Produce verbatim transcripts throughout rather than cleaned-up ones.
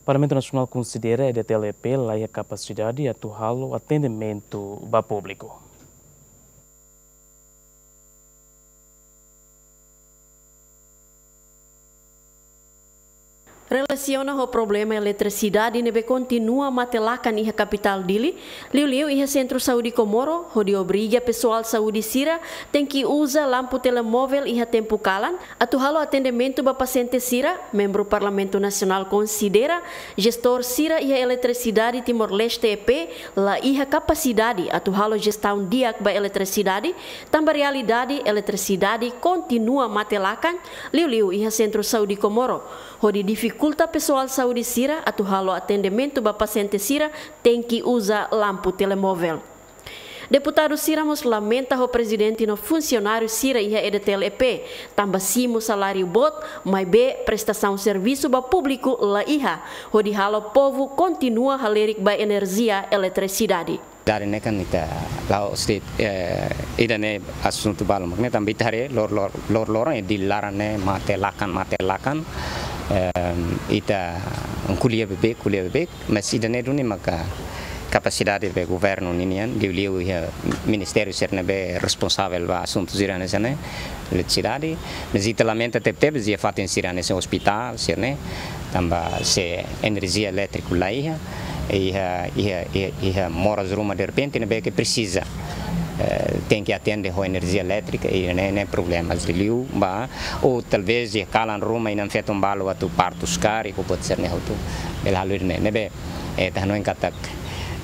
Parlamentu Nasionál konsidera E D T L E P la iha kapasidade atu halo atendimentu ba públiku. Relasiona ho problema eletrisidade ne'ebé kontinua mate-lakan iha kapitál Dili, liuliu iha Sentru Saúde Comoro, hodi obriga pesoál saúde sira tenke uza lampu telemóvel iha tempu kalan, atu halo atendimentu ba pasiente sira, membru Parlamentu Nasionál konsidera jestór sira iha Eletrisidade Timor-Leste E P la iha kapasidade atu halo jestaun di'ak ba eletrisidade, tanba realidade eletrisidade kontinua mate-lakan, liuliu iha Sentru Saúde Comoro, hodi difikulta pesoál saúde sira atu halo atendimentu ba pasiente sira tenke uza lampu telemóvel. Deputadu sira mós lamenta ho prezidente no funsionáriu sira iha E D T L E P, tanba simu saláriu boot, maibé prestasaun servisu ba públiku la iha, hodi halo povu kontinua halerik ba enerjia eletrisidade. Dari ne'e kan ita la'ós de'it, eh, ida-ne'e asuntu balu mak ne'e tanba ita haree lor-, lor-, lor-, loron iha Dili laran ne'e mate-lakan, mate-lakan. Em, ita ko'alia beibeik, ko'alia beibeik, mas ida-ne'e duni maka kapasidade be governu ninian, liuliu iha ministériu sira ne'ebé responsavel ba asuntu sira hanesan ne'e, eletrisidade, mas ita lamenta tebetebes iha fatin sira hanesan ospitál sira-ne'e, tanba se enerjia elétriku la iha, iha, iha, iha, iha moras ruma derrepente ne'ebé ke presiza, eh, tenke atende ho enerjia elétrika, i ne'e, ne'e problema liu ba, ou talvés iha kalan ruma inan-feton balu atu partus karik, ou buat sira-ne'e hotu, bele halo ne'e, ne'ebé, eh, ita hanoin katak,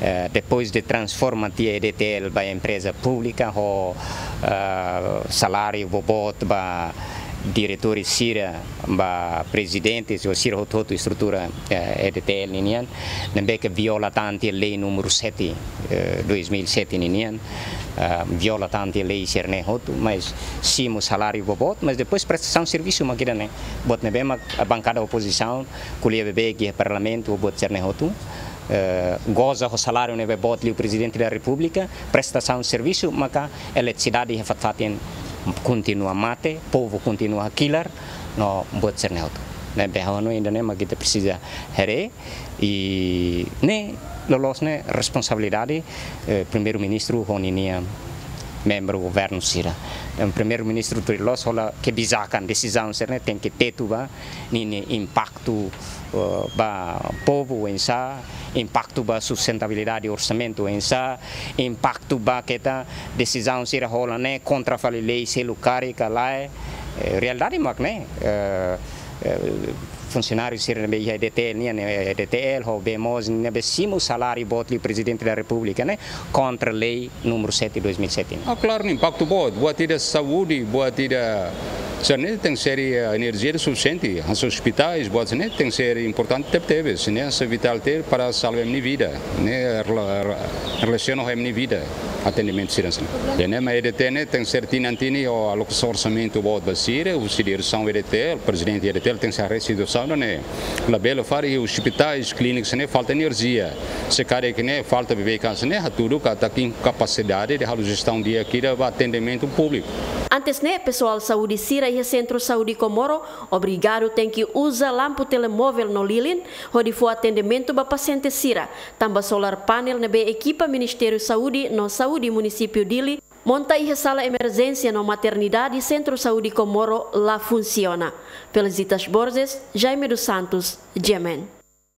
eh, depois de transforma tiha E D T L ba empreza públika, ho, eh, saláriu boboot ba diretór sira, ba prezidente, ou sira hotu-hotu estrutura, eh, E D T L ninian, ne'ebé ke viola tan tiha lei númeru sete, eh, dois mil e sete ninian, eh, viola tan tiha lei sira-ne'e hotu, mas simu saláriu boboot, mas depois prestasaun servisu mak ida-ne'e. Buat ne'ebé mak bankada opozisaun ko'alia beibeik iha Parlamentu, buat sira-ne'e hotu, eh, goza ho saláriu ne'ebé boot liu Prezidente da Repúblika, prestasaun servisu maka eletrisidade iha fatin-fatin kontinua mate, povu kontinua hakilar, no buat sira-ne'e hotu. Ne'ebé ha'u hanoin ida-ne'e mak ita presiza haree, i ne'e loloos ne'e responsabilidade, eh, Primeiru-Ministru ho ninia membru governu sira. Em, Primeiru-Ministru tuir loloos hola kebijakan, desizaun sira-ne'e tenke tetu ba ninia impaktu, eh, ba povu oinsá, impaktu ba sustentabilidade orsamentu oinsá, impaktu ba keta desizaun sira hola ne'e kontra fali lei seluk karik ka lae. Eh, realidade mak ne'e, eh, eh, funsionáriu sira ne'ebé iha E D T L nian, eh, E D T L ho Bee Moos ne'ebé simu saláriu boot liu Prezidente da Repúblika ne'e kontra lei númeru sete dois mil e sete. Ah, klaru, ne'e impaktu boot, buat ida saúde, buat ida, sira-ne'e tenke ser, eh, enerjia sufisiente, hanesan ospitais, buat sira-ne'e tenke ser importante tebetebes, ne'e hanesan vitál tebes para salva ema nia vida, ne'e rela-, re-, relasiona ho ema nia vida, atendimentu sira hanesan ne'e. Ida-ne'e mak E D T L ne'e tenke ser tinan-tinan ho alokasaun orsamentu boot ba sira, husi diresaun E D T L, prezidente E D T L tenke ser haree situasaun ne'e. Labele fali ospitais, klínikas ne'e falta enerjia. Se karik ne'e falta beibeik hanesan ne'e, hatudu katak inkapasidade de halo jestaun di'ak ida ba atendimentu públiku. Antes ne'e, pesoál saúde sira iha Sentru Saúde Comoro obrigadu tenke uza lampu telemóvel no lilin, hodi fó atendimentu ba pasiente sira, tanba solar panel ne'ebé ekipa Ministériu Saúde no Saúde Munisípiu Dili monta iha sala emerjénsia no maternidade Sentru Saúde Comoro la funsiona. Felicitas Borges, Jaime dos Santos, G M N.